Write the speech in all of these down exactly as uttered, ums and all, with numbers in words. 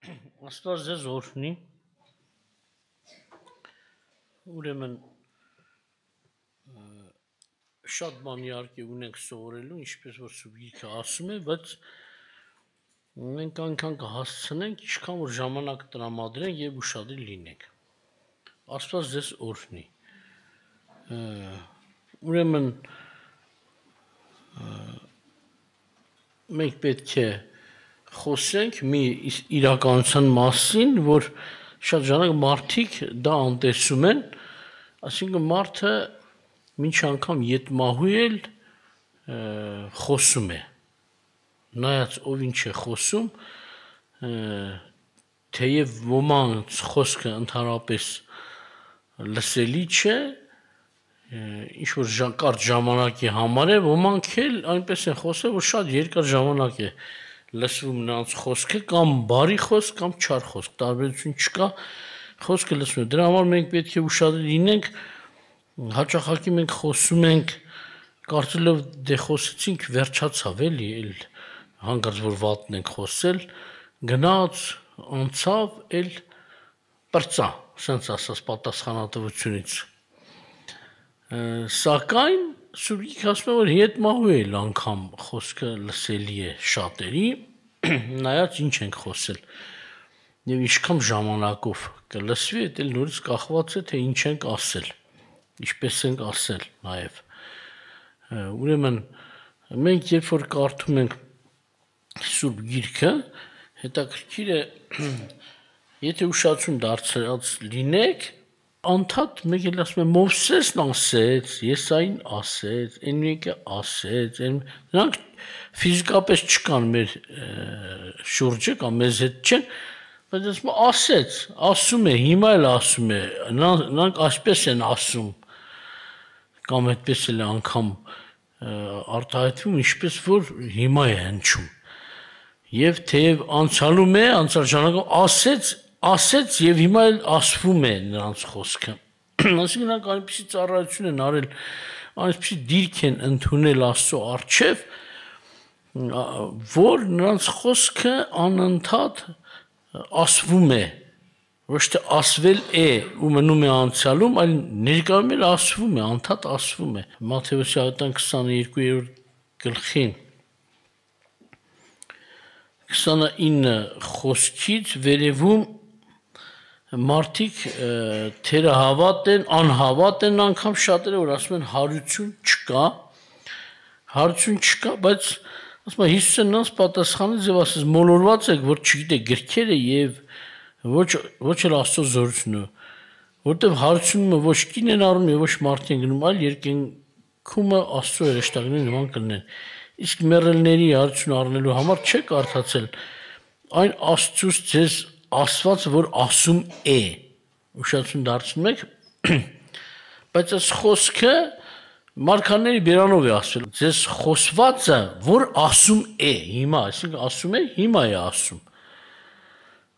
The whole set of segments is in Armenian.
Աստված ձեզ օրհնի, ուրեմն շատ բան իհարկե ունենք սովորելու, ինչպես որ Սուրբ Գիրքը ասում է, բայց մենք այնքան կհասցնենք, ինչքան որ ժամանակ տրամադրենք եւ ուշադիր լինենք։ Աստված ձեզ օրհնի։ Ուրեմն մենք պետք է խոսենք մի իրականության մասին, որ շատ ժամանակ մարդիկ դա անտեսում են, այսինքն մարդը մինչ անգամ ետմահու էլ խոսում է, նայած ով ինչ է խոսում, թեև ոմանց խոսքը ընդհանրապես լսելի չէ, ինչ որ կարճ ժամանակի համար է, ոմանք էլ այնպես են խոսել, որ շատ երկար ժամանակ է լսվում նրանց խոսքը, կամ բարի խոսք, կամ չար խոսք, տարբերություն չկա, խոսքը լսվում է։ Դրա համար մենք պետք է ուշադիր լինենք, հաճախակի մենք խոսում ենք, կարծելով դե խոսեցինք, վերջացավ էլի, էլ հանկարծ որ վատն ենք խոսել, գնաց, անցավ, էլ պրծա, սենց ասած պատասխանատվությունից։ Սակայն Սուրբ Գիրքը ասում է, որ ետմահու էլ անգամ խոսքը լսելի է շատերի, նայած ինչ ենք խոսել, եւ ինչքան ժամանակով կլսվի, դա էլ նորից կախված է, թե ինչ ենք ասել, ինչպես ենք ասել նաեւ։ Ուրեմն մենք երբ որ կարդում ենք Սուրբ Գիրքը, հետաքրքիր է, եթե ուշադրություն դարձած լինեք, անդադ մեկ էլ ասում է Մովսեսն ասեց, Եսային ասեց, այն մեկը ասեց, նրանք ֆիզիկապես չկան մեր շուրջը կամ մեզ հետ չեն, բայց ասում է ասեց, ասում է, հիմա էլ ասում է, նրանք այսպես են ասում, կամ այդպես էլ անգամ արտահայտվում, ինչպես որ հիմա է հնչում։ Եվ թեև անցյալում է, անցյալ ժամանակում ասեց, ասեց եւ հիմա էլ ասվում է նրանց խոսքը։ Այսինքն նրանք այնպիսի ծառայություն են արել, այնպիսի դիրք են ընդունել Աստծո առջև, որ նրանց խոսքը անընդհատ ասվում է, ոչ թե ասվել է ու մնում է անցյալում, այլ ներկայում էլ ասվում է, անընդհատ ասվում է։ Մատթեոս ավետարան քսաներկուերորդ գլխին քսանինը խոսքից վերևում մարդիկ թերահավատ են, անհավատ են անգամ շատերը, որ ասում են հարություն չկա, հարություն չկա, բայց ասում է Հիսուսը նրանց պատասխանեց եւ ասեց մոլորված եք, որ չգիտեք գրքերը եւ ոչ ոչ էլ Աստծո զորությունը, որտեւ հարությունը ոչ կին են առնում եւ ոչ մարդի են գնում, այլ երկնքումը Աստծո երեշտակների նման կլինեն։ Իսկ մեռելների հարություն առնելու համար չեք կարդացել այն Աստծուց ձեզ ասված, որ ասում է, ուշադրություն դարձնում եք, բայց այս խոսքը մարգարեների բերանով է ասվել, ձեզ խոսվածը, որ ասում է, հիմա, այսինքն ասում է, հիմա է ասում։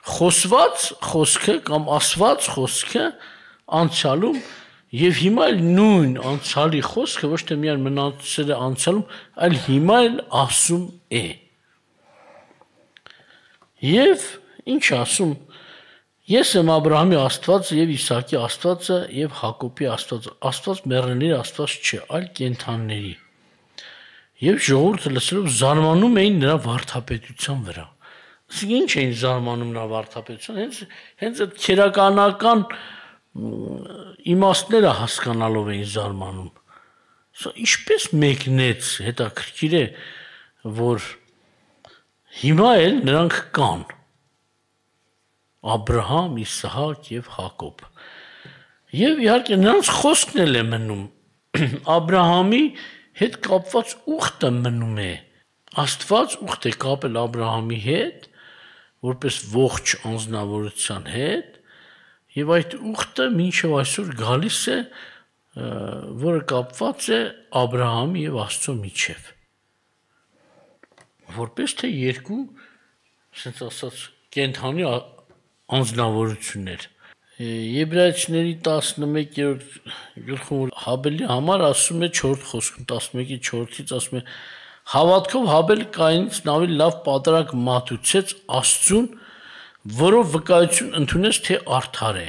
Խոսված խոսքը կամ ասված խոսքը անցյալում եւ հիմա էլ նույն անցյալի խոսքը ոչ թե միայն մնացել է անցյալում, այլ հիմա էլ ասում է։ Եվ ինչ ասում, ես եմ Աբրահամի Աստվածը եւ Իսահակի Աստվածը եւ Հակոբի Աստվածը, Աստված մեռելների Աստված չէ, այլ կենդանիների։ Եվ ժողովուրդը լսելով զարմանում էին նրա վարդապետության վրա։ Իսկ ինչ էին զարմանում նրա վարդապետության, հենց հենց այդ քերականական իմաստները հասկանալով էին զարմանում։ Սա ինչպես մեկնեց, հետաքրքիր է, որ հիմա էլ նրանք կան։ Աբրահամ, Իսահակ եւ Հակոբ։ Եվ իհարկե նրանց խոսքն էլ է մնում։ Աբրահամի հետ կապված ուխտը մնում է։ Աստված ուխտ է կապել Աբրահամի հետ, որպես ողջ անձնավորության հետ, եւ այդ ուխտը մինչեւ այսօր գալիս է, որը կապված է Աբրահամի եւ Աստծո միջեւ։ Որպես թե երկու, ասենց ասած, կենդանի անձնավորություններ։ Եբրայեցիների տասնմեկերորդ գլխում Հաբելի համար ասում է չորրորդ խոսքում տասնմեկի չորրորդից ասում է հավատքով Հաբել Կայինից ավելի լավ պատարագ մատուցեց Աստծուն, որով վկայություն ընդունեց, թե արդար է։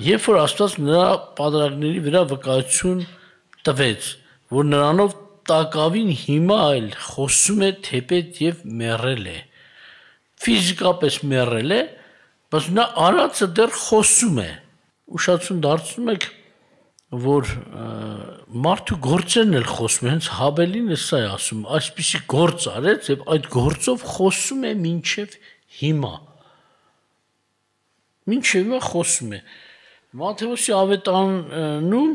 Երբ որ Աստված նրա պատրակների վրա վկայություն տվեց, որ նրանով տակավին հիմա այլ խոսում է թեպետ եւ մեռել է։ Ֆիզիկապես մեռել է, բայց նա արածը դեռ խոսում է։ Ուշադրություն դարձնում եք, որ մարդու գործերն էլ խոսում են, հենց Հաբելին է սա է ասում, այսպիսի գործ արեց եւ այդ գործով խոսում է մինչեւ հիմա։ Մինչեւ հիմա խոսում է։ Մատթեոսի ավետարանում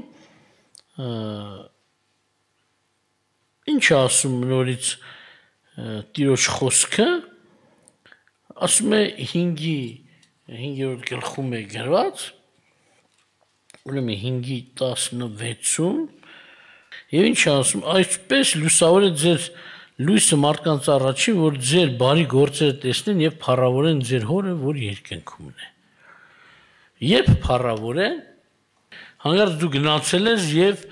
ինչ է ասում նորից Տիրոջ խոսքը, ասում է հինգի հինգերորդ գլխում է գրված, ուրեմն հինգի տասնվեցում, եւ ինչ է ասում, այսպես լուսավոր է ձեր լույսը մարդկանց առաջին, որ ձեր բարի գործերը տեսնեն եւ փառավորեն ձեր հորը, որ երկնքում է։ Երբ փառավորեն, հանկարծ դու գնացել ես եւ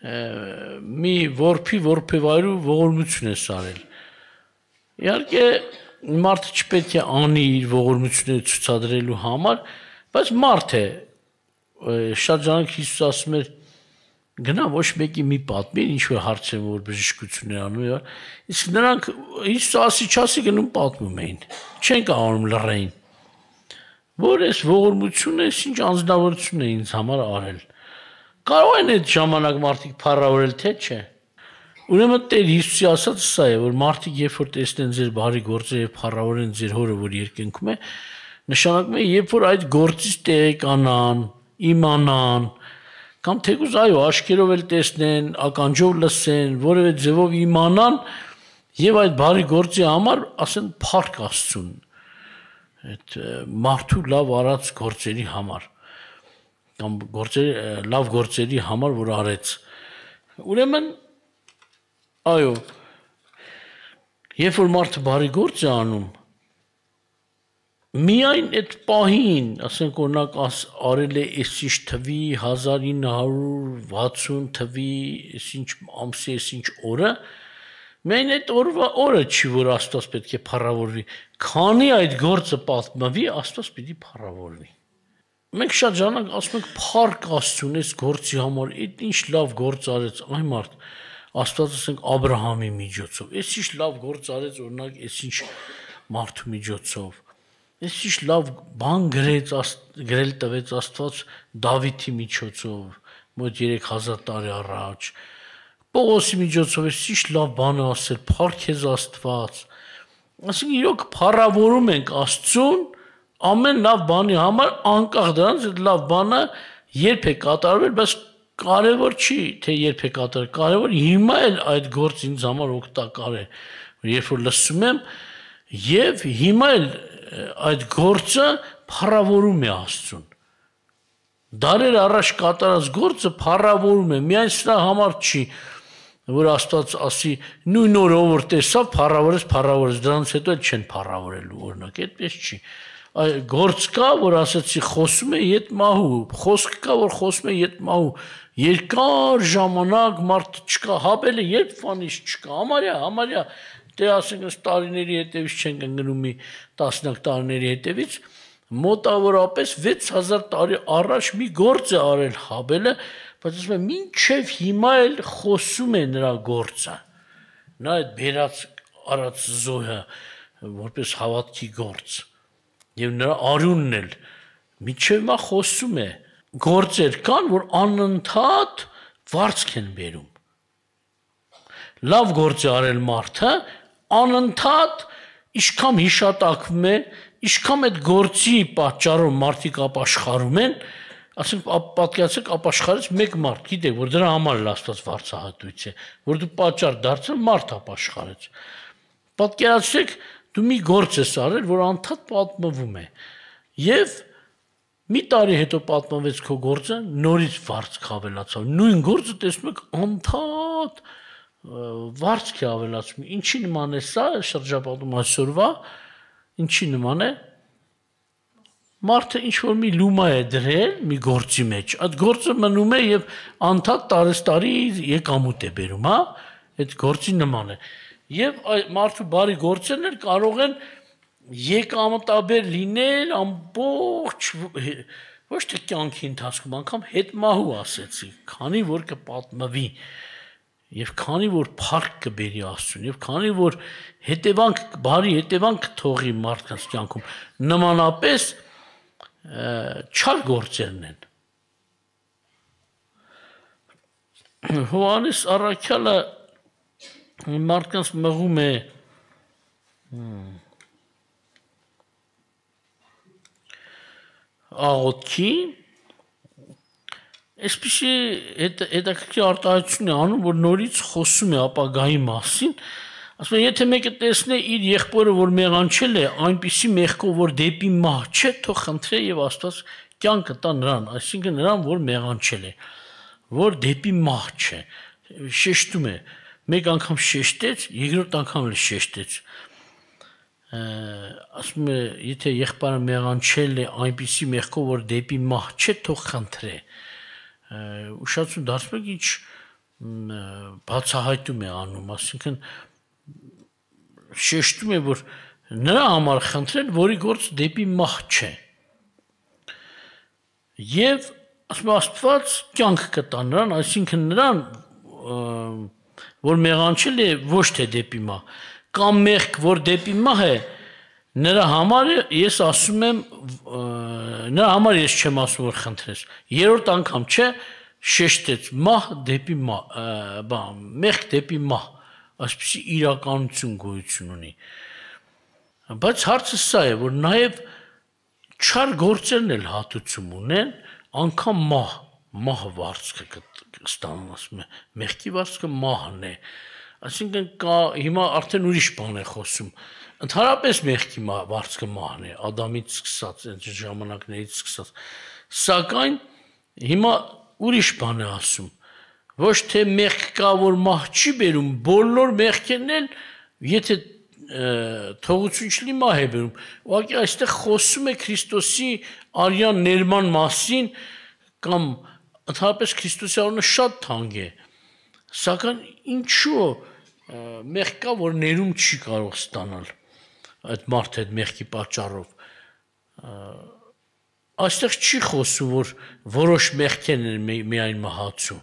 մի որփի որփեվայրու ողորմություն ես արել։ Իհարկե մարդը չպետք է անի իր ողորմությունները ցուցադրելու համար, բայց մարդ է, շատ ժամանակ Հիսուս ասում էր, գնա ոչ մեկի մի պատմիր, ինչ որ հարցեր որ բժշկություն էր անում, իսկ նրանք Հիսուս ասի չասի գնում պատմում էին, չեն կարողանում լռեին, որ այս ողորմությունը ինչ անձնավորություն է ինձ համար արել։ Կարող են այդ ժամանակ մարդիկ փառավորել, թե չէ։ Ուրեմն Տեր Հիսուսի ասածը սա է, որ մարդիկ երբ որ տեսնեն ձեր բարի գործերը եւ փառավորեն ձեր հորը, որ երկնքում է, նշանակում է, երբ որ այդ գործից տեղեկանան, իմանան, կամ թեկուզ այո, աչքերով էլ տեսնեն, ականջով լսեն, որևէ ձևով իմանան եւ այդ բարի գործի համար ասեն փառք Աստծուն։ Այդ մարդու լավ արած գործերի համար կամ գործերի լավ գործերի համար, որ արեց։ Ուրեմն այո, երբ որ մարդը բարի գործ է անում, միայն այդ պահին, ասենք օրինակ արել է այսինչ թվի հազար ինը հարյուր վաթսուն թվի, այսինչ ամսի, այսինչ օրը, միայն այդ օրվա օրը չի, որ Աստված պետք է փառավորվի, քանի այդ գործը պատմվի, Աստված պիտի փառավորվի։ Մենք շատ ժամանակ ասում ենք փառք Աստծուն այս գործի համար, այդ ինչ լավ գործ արեց այն մարդ, Աստված ասենք Աբրահամի միջոցով, այս ինչ լավ գործ արեց օրինակ այս ինչ մարդու միջոցով, այս ինչ լավ բան գրեց, գրել տվեց Աստված Դավիթի միջոցով, մոտ երեք հազար տարի առաջ, Պողոսի միջոցով այս ինչ լավ բան է ասել, փառք քեզ Աստված, ասենք իրոք փառավորում ենք Աստծուն ամեն լավ բանի համար, անկախ դրանից այդ լավ բանը երբ է կատարվել, բայց կարևոր չի, թե երբ է կատարվել, կարևոր հիմա էլ այդ գործը ինձ համար օգտակար է, երբ որ լսում եմ, եւ հիմա էլ այդ գործը փառավորում է Աստծուն։ Դարեր առաջ կատարած գործը փառավորում է, միայն սրա համար չի, որ Աստված ասի նույն օրը որ տեսավ փառավորես, փառավորես, դրանից հետո չեն փառավորելու, օրինակ, այդպես չի։ Գործ կա, որ ասացի խոսում է յետ մահու, խոսք կա, որ խոսում է յետ մահու, երկար ժամանակ մարդ չկա, Հաբելը երբ ֆանից չկա, համարյա, համարյա, դե ասենք տարիների հետևից չենք ընկնում մի տասնյակ տարիների հետևից, մոտավորապես վեց հազար տարի առաջ մի գործ է արել Հաբելը, բայց ասում է մինչև հիմա էլ խոսում է նրա գործը, նա այդ բերած արած զոհը որպես հավատքի գործ, եւ նրա արյունն էլ մինչև հիմա խոսում է, գործեր կան, որ անընդհատ վարձք են բերում։ Լավ գործ է արել մարդը, անընդհատ ինչքան հիշատակվում է, ինչքան այդ գործի պատճառով մարդիկ ապաշխարում են, ասենք պատկերացրեք ապաշխարեց մեկ մարդ, գիտեք, որ դրա համար էլ Աստված վարձահատույց է, որ դու պատճառ դարձել մարդ ապաշխարեց։ Պատկերացրեք դու մի գործ ես արել, որ անդադ պատմվում է, եւ մի տարի հետո պատմվեց քո գործը, նորից վարձք ավելացավ, նույն գործը տեսնում եք անդադ վարձք է ավելացում, ինչի նման է սա շրջապատում այսօրվա, ինչի նման է, մարդը ինչ-որ մի լումա է դրել մի գործի մեջ, այդ գործը մնում է եւ անդադ տարեստարի եկամուտ է բերում, հա, այդ գործի նման է, եւ մարդու բարի գործերն էլ կարող են եկամտաբեր լինել ամբողջ ոչ թե կյանքի ընթացքում, անգամ հետմահու ասեցի, քանի որ կպատմվի եւ քանի որ փառք կբերի Աստծուն եւ քանի որ հետևանք բարի հետևանք թողի մարդկանց կյանքում նմանապես չար գործերն են Հովանես Առաքյալը մարդկանց մղում է աղոթքի այսպիսի հետաքրքիր արտահայտություն է անում, որ նորից խոսում է ապագայի մասին, ասում է, եթե մեկը տեսնե իր եղբորը, որ մեղանչել է, այնպիսի մեղքով, որ դեպի մահ չէ, թող խնդրե եւ Աստված կյանք տա նրան, այսինքն նրան, որ մեղանչել է, որ դեպի մահ չէ, շեշտում է, մեկ անգամ շեշտեց, երկրորդ անգամ էլ շեշտեց ասում է, եթե եղբայրը մեղանչել է այնպիսի մեղքով, որ դեպի մահ չէ, թող խնդրե ուշացում դարձում եք ինչ բացահայտում է անում, այսինքն շեշտում է, որ նրա համար խնդրել, որի գործ դեպի մահ չէ եւ ասում է Աստված կյանք կտա նրան, այսինքն նրան, որ մեղանչել է ոչ թե դեպի մահ կամ մեղք, որ դեպի մահ է, նրա համար ես ասում եմ, նրա համար ես չեմ ասում, որ խնդրես, երրորդ անգամ չէ, շեշտեց, մահ դեպի մահ, մեղք դեպի մահ, այսպիսի իրականություն գոյություն ունի, բայց հարցը սա է, որ նաև չար գործերն էլ հատուցում ունեն, անգամ մահ, մահ վարձքը կստանում, ասում է, մեղքի վարձքը մահն է, այսինքն կա հիմա արդեն ուրիշ բան է խոսում, ընդհանրապես մեղքի վարձքը մահն է, Ադամից սկսած, այն ժամանակներից սկսած, սակայն հիմա ուրիշ բան է ասում, ոչ թե մեղք կա, որ մահ չի բերում, բոլոր մեղքերն էլ, եթե թողություն չլի մահ է բերում, ուղղակի այստեղ խոսում է Քրիստոսի արյան ներման մասին, կամ ընդհանրապես Քրիստոսի անունը շատ թանկ է, սակայն ինչու մեղք կա, որ ներում չի կարող ստանալ այդ մարդը այդ մեղքի պատճառով այստեղ չի խոսում, որ որոշ մեղքերն են միայն մահացու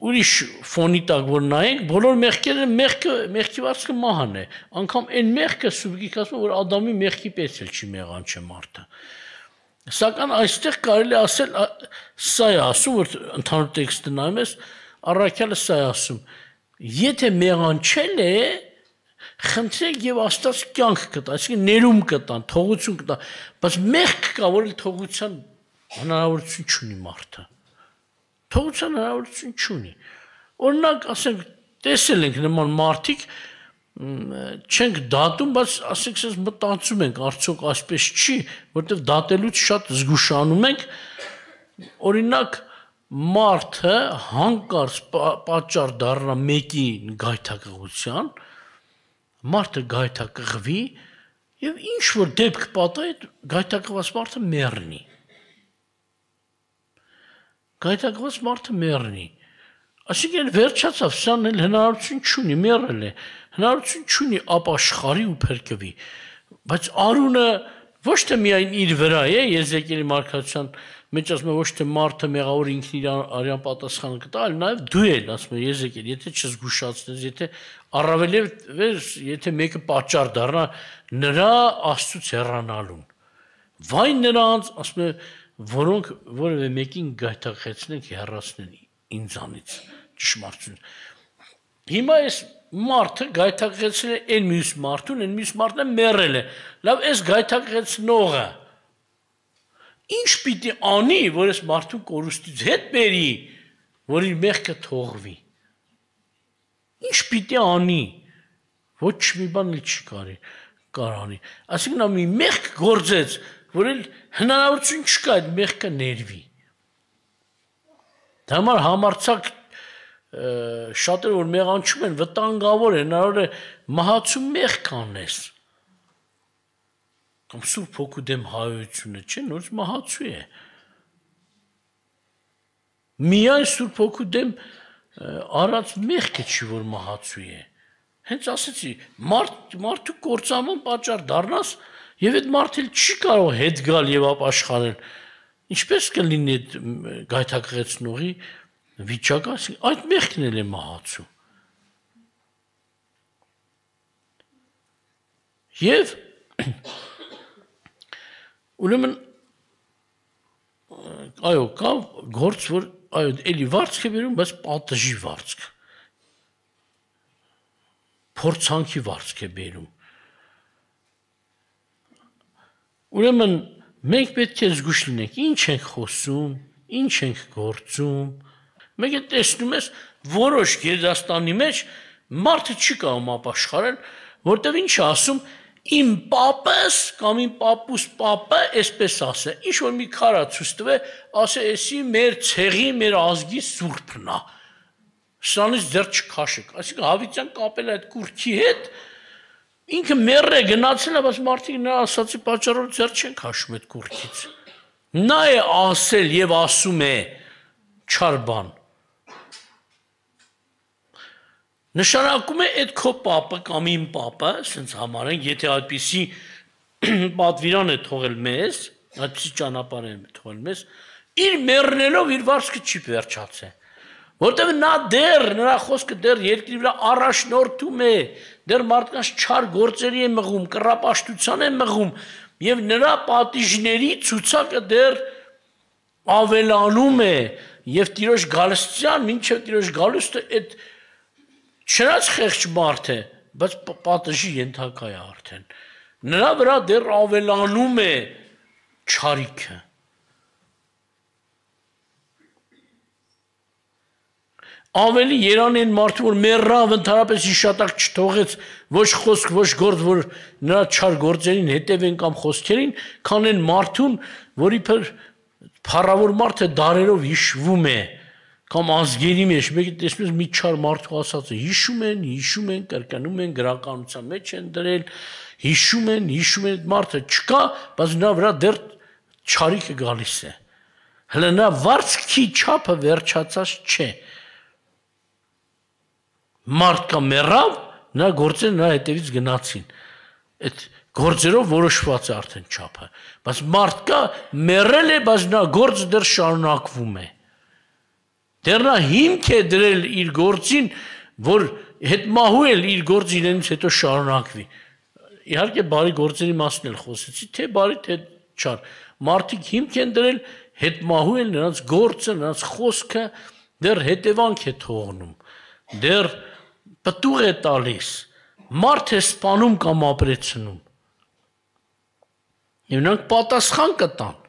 ուրիշ ֆոնի տակ որ նայենք, բոլոր մեղքերը մեղքի վարձքը մահն է, անգամ այն մեղքը սուբգիկ ասում, որ Ադամի մեղքի պես էլ չի մեղանչե մարդը սակայն այստեղ կարելի ասել սա է ասում, որ ընդհանուր տեքստը նայում ես, Առաքյալը սա է ասում, եթե մեղանչել է, խնդրեք եւ Աստված կյանք կտա, այսինքն ներում կտան, թողություն կտա, բայց մեղք կա, որ թողության հնարավորություն չունի մարդը։ Թողության հնարավորություն չունի։ Օրինակ, ասենք, տեսել ենք նման մարդիկ չենք դատում, բայց ասենք sense մտածում ենք, արդյոք այսպես չի, որտեղ դատելուց շատ զգուշանում ենք, օրինակ մարդը հանկարծ պատճառ դառնա մեկի գայթակղության, մարդը գայթակղվի եւ ինչ որ դեպք պատահի, գայթակղված մարդը մեռնի։ Գայթակղված մարդը մեռնի։ Այսինքն վերջացավ, սան էլ հնարավորություն չունի, մեռել է, հնարավորություն չունի ապաշխարի ու փրկվի, բայց արունը ոչ թե միայն իր վրա է, Եզեկիելի մարգարեության մեջ ասում է ոչ թե մարդը մեղավոր ինքն իր արյան պատասխանը կտա, այլ նաև դու էլ, ասում է Եզեկիել, եթե չզգուշացնես, եթե առավելևս, եթե մեկը պատճառ դառնա նրա Աստծուց հեռանալուն։ Վայ նրանց, ասում է, որոնք որևէ մեկին գայթակղեցնեն, հեռացնեն ինձանից ճշմարտություն։ Հիմա այս մարդը գայթակղեցել է այն մյուս մարդուն, այն մյուս մարդն է մեռել է։ Լավ, այս գայթակղեցնողը ինչ պիտի անի, որ այս մարդուն կորուստից հետ բերի, որ իր մեղքը թողվի։ Ինչ պիտի անի, ոչ մի բան չի կարի, կարանի։ Այսինքն նա մի մեղք գործեց, որ էլ հնարավորություն չկա այդ մեղքը ներվի։ Դա համար համարձակ շատերը որ մեղանչում են, վտանգավոր է, հնարավոր է մահացու մեղք անես։ Կամ Սուրբ Հոգու դեմ հայությունը չէ, նորից մահացու է։ Միայն Սուրբ Հոգու դեմ արած մեղքը չի, որ մահացու է։ Հենց ասեցի, մարդ մարդու կործանման պատճառ դառնաս եւ այդ մարդը չի կարող հետ գալ եւ ապաշխարել։ Ինչպես կլինի այդ գայթակղեցնողի վիճակը, այդ մեղքն էլ է մահացու։ Եվ ուրեմն այո, կա գործ, որ այո, էլի վարձք է բերում, բայց պատժի վարձք։ Փորձանքի վարձք է բերում։ Ուրեմն մենք պետք է զգուշ լինենք, ինչ ենք խոսում, ինչ ենք գործում։ Մենք է տեսնում ես որոշ գերդաստանի մեջ մարդը չի կարող ապաշխարել, որտեղ ինչ է ասում իմ պապս կամ իմ պապուս պապը այսպես ասե, ինչ որ մի քարա ցույց տվե, ասե, էսի մեր ցեղի, մեր ազգի սուրբն է։ Սրանից դեռ չքաշեք։ Այսինքն Հավիտյան կապել այդ կուրքի հետ, ինքը մեռ է գնացել է, բայց մարդիկ նրա ասացի պատճառով դեռ չեն քաշում այդ կուրքից։ Նա է ասել եւ ասում է չար բան։ Նշանակում է այդ քո պապը կամ իմ պապը, ասենց համարենք, եթե այդպիսի պատվիրան է թողել մեզ, այդպիսի ճանապարհ է թողել մեզ, իր մեռնելով իր վարձքը չի վերջացել։ Որտեղ նա դեռ նրա խոսքը դեռ երկրի վրա առաջնորդում է, դեռ մարդկանց չար գործերի է մղում, կռապաշտության է մղում, եւ նրա պատիժների ցուցակը դեռ ավելանում է, եւ Տիրոջ գալստյան, մինչեւ Տիրոջ գալուստը այդ չնայած խեղճ մարդ է, բայց պատժի ենթակա է արդեն։ Նրա վրա դեռ ավելանում է չարիքը։ Ավելի երան են մարդը, որ մեռավ, ընդհանրապես հիշատակ չթողեց ոչ խոսք, ոչ գործ, որ նրա չար գործերին հետևեն կամ խոսքերին, քան են մարդուն, որի փր փառավոր մարդը դարերով հիշվում է, կամ ազգերի մեջ, մեկը տեսնում ես մի չար մարդու ասածը, հիշում են, հիշում են, կրկնում են, գրականության մեջ են դրել, հիշում են, հիշում են, մարդը չկա, բայց նա վրա դեռ չարիքը գալիս է։ Հələ նա վարձքի չափը վերջացած չէ։ Մարդկա մեռավ, նա գործերը նրա հետևից գնացին։ Այդ գործերով որոշված է արդեն չափը, բայց մարդկա մեռել է, բայց նա գործը դեռ շարունակվում է։ Դեռ նա հիմք է դրել իր գործին, որ հետմահու էլ իր գործը իրենից հետո շարունակվի։ Իհարկե բարի գործերի մասն էլ խոսեցի, թե բարի, թե չար։ Մարդիկ հիմք են դրել, հետմահու էլ նրանց գործը, նրանց խոսքը դեռ հետևանք է թողնում, դեռ պտուղ է տալիս, մարդ է սպանում կամ ապրեցնում։ Եվ նրանք պատասխան կտան։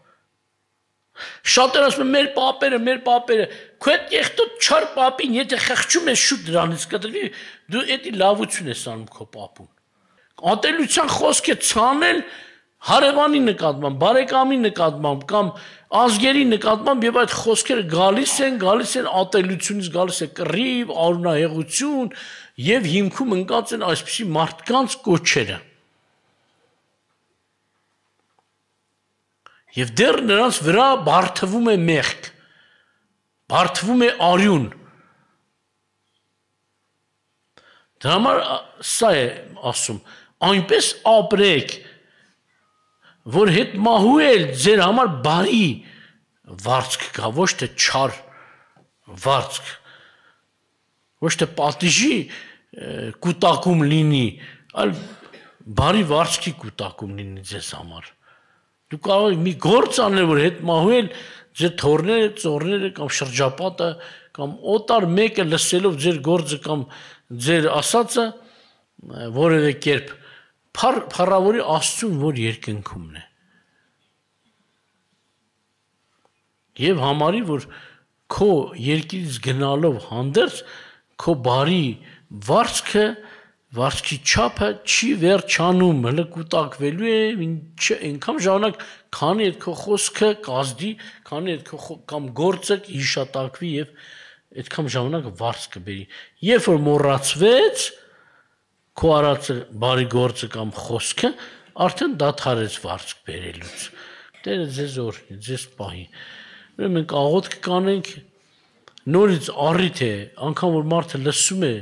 Շատեր ասում են մեր պապերը, մեր պապերը, քո այդ եղտոտ չար պապին, եթե խղճում ես շուտ դրանից կտրվի, դու էդի լավություն ես անում քո պապուն։ Ատելության խոսք է ցանել հարևանի նկատմամբ, բարեկամի նկատմամբ կամ ազգերի նկատմամբ եւ այդ խոսքերը գալիս են, գալիս են ատելությունից, գալիս է կռիվ, արունահեղություն եւ հիմքում ընկած են այսպիսի մարդկանց կոչերը։ Եվ դեռ նրանց վրա բարթվում է մեղք, բարթվում է արյուն։ Դրա համար սա է ասում, այնպես ապրեք, որ հետմահու էլ ձեր համար բարի վարձք կա, ոչ թե չար վարձք, ոչ թե պատիժի կուտակում լինի, այլ բարի վարձքի կուտակում լինի ձեզ համար։ Դու կարող ես մի գործ անել, որ հետմահու էլ ձեր թորները, ծորները կամ շրջապատը կամ օտար մեկը լսելով ձեր գործը կամ ձեր ասածը որևէ կերպ փառավորի Աստծուն, որ երկնքումն է։ Եվ համարի, որ քո երկիրից գնալով հանդերձ քո բարի վարձքը, վարձքի չափը չի վերջանում, հələ կուտակվելու է, այնքան ժամանակ, քանի այդ քո խոսքը կազդի, քանի այդ քո կամ գործը հիշատակվի եւ այդքան ժամանակ վարձ կբերի։ Երբ որ մոռացվեց քո արածը բարի գործը կամ խոսքը, արդեն դադարեց վարձք բերելուց։ Տերը ձեզ օրհնի, ձեզ պահի։ Ուրեմն մենք աղոթք կանենք, նորից առիթ է, անգամ որ մարդը լսում է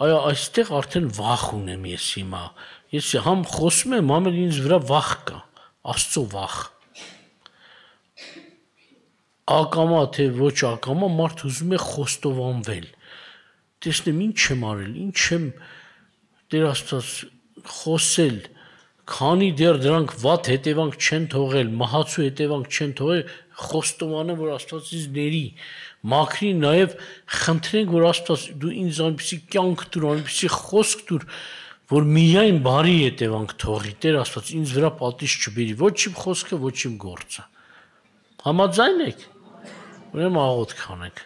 այո, այստեղ արդեն վախ ունեմ ես հիմա։ Ես համ խոսում եմ, համ էլ ինձ վրա վախ կա, Աստծո վախ։ Ակամա թե ոչ ակամա մարդ ուզում է խոստովանվել։ Տեսնեմ ինչ եմ արել, ինչ եմ Տեր Աստված խոսել, քանի դեռ դրանք վատ հետևանք չեն թողել, մահացու հետևանք չեն թողել, խոստովանեմ, որ Աստված ինձ ների, մաքրի, նաև խնդրենք, որ Աստված դու ինձ այնպիսի կյանք տուր, այնպիսի խոսք տուր, որ միայն բարի հետևանք թողի, Տեր Աստված ինձ վրա պատիժ չբերի, ոչ իմ խոսքը, ոչ իմ գործը։ Համաձայն եք։ Ուրեմն աղոթք անենք։